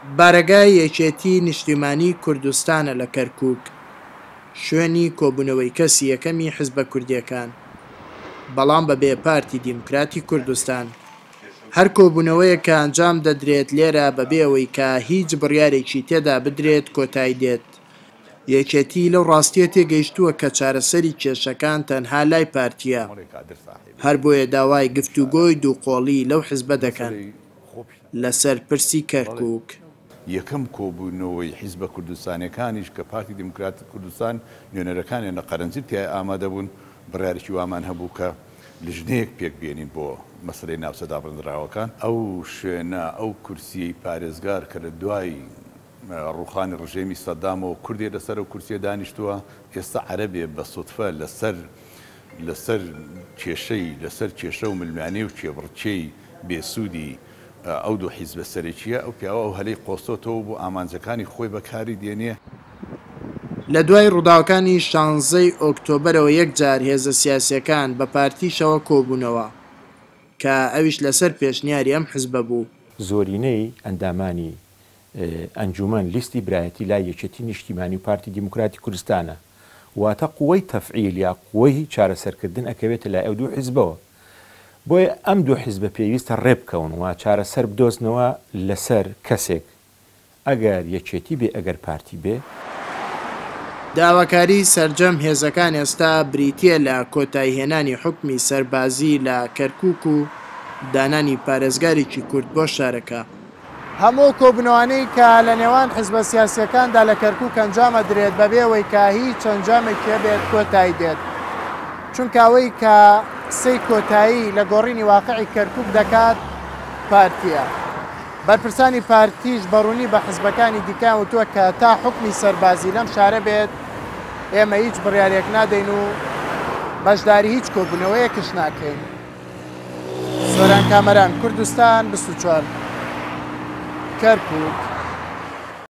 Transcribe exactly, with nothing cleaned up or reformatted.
بارەگای یەکێتی نیشتیمانی کوردستانە لە کەرکوک، شوێنی کۆبوونەوەی کەسی یەکەمی حزبە کوردییەکان، بەڵام بەبێ پارتی دیموکراتی کوردستان. هەر کۆبوونەوەیەک کە ئەنجام دەدرێت لێرە بەبێ ئەوەی کە هیچ بڕیارێکی تێدا بدرێت کۆتایی دێت. یەکێتی لەو ڕاستییە تێگەیشتووە کە چارەسەری کێشەکان تەنها لای پارتییە، هەر بۆیە داوای گفتوگۆی دوو قۆڵی لەو حزبە دەکەن لەسەر پرسی کەرکوک. یەکەم کۆبوونەوەی حیزبە کوردستانیەکانیش کە پارتی دیموکراتی کوردستان نوێنەرەکانیان لە قەرەنجیر تیای ئامادە بوون، بڕیارێکی وامان هەبوو کە لیژنەیەک پێک بێنین بۆ مەسەلەی ناوچە دابڕێندراوەکان. ئەو شوێنە، ئەو کورسیەی پارێزگار کە لە دوای ڕووخانی ڕژێمی سەدامەوە کوردێ لەسەر ئەو کورسیە دانیشتووە، ئێستا عەرەبێ بە سوتفە لەسەر لەسەر کێشەی لەسەر کێشە و ململانێ و کێبڕکێی بێسوودی ئەو دوو حیزبە سەرەکییە، ئەو پیاوە ئەو هەلەی قۆستۆتەوە و بۆ ئامانجەکانی خۆی بەکاری دێنێ. لە دوای ڕووداوەکانی شانزەی ئۆکتۆبەرەوە یەکجار هێزە سیاسییەکان بە پارتیشەوە کۆبوونەوە کە ئەویش لەسەر پێشنیاری ئەم حزبە بوو. زۆرینەی ئەندامانی ئەنجومەن لیستی برایەتی لای یەکێتی نیشتیمانی و پارتی دیموکراتی کوردستانە، واتە قوەی تەفعیل یا قوەی چارەسەرکردن ئەکەوێتە لای ئەو دوو حیزبەوە. بۆیە ئەم دوو حیزبە پێویستە ڕێبکەون و چارەسەر بدۆزنەوە لەسەر کەسێک، ئەگەر یەکێتی بێ ئەگەر پارتی بێ. داواکاری سەرجەم هێزەکان ئێستا بریتییە لە کۆتاییهێنانی حوکمی سەربازی لە کەرکوک و دانانی پارێزگارێکی کورد بۆ شارەکە. هەموو کۆبوونەوانەی کە لە نێوان حزبە سیاسیەکاندا لە کەرکوک ئەنجام ئەدرێت بەبێ ئەوەی کە هیچ ئەنجامێکی هەبێت کۆتایی دێت، چونکە ئەوەی کە قسەی کۆتایی لە گۆڕینی واقعی کەرکوک دەکات پارتیە. بەرپرسانی پارتیش بەڕوونی بە حزبەکانی دیکەیان وتووە کە تا حوکمی سەربازی لەم شارە بێت ئێمە هیچ بڕیارێک نادەین و بەشداری هیچ کۆبوونەوەیەکش ناکەین. سۆران کامەران، کوردستان بیست و چوار، کەرکوک.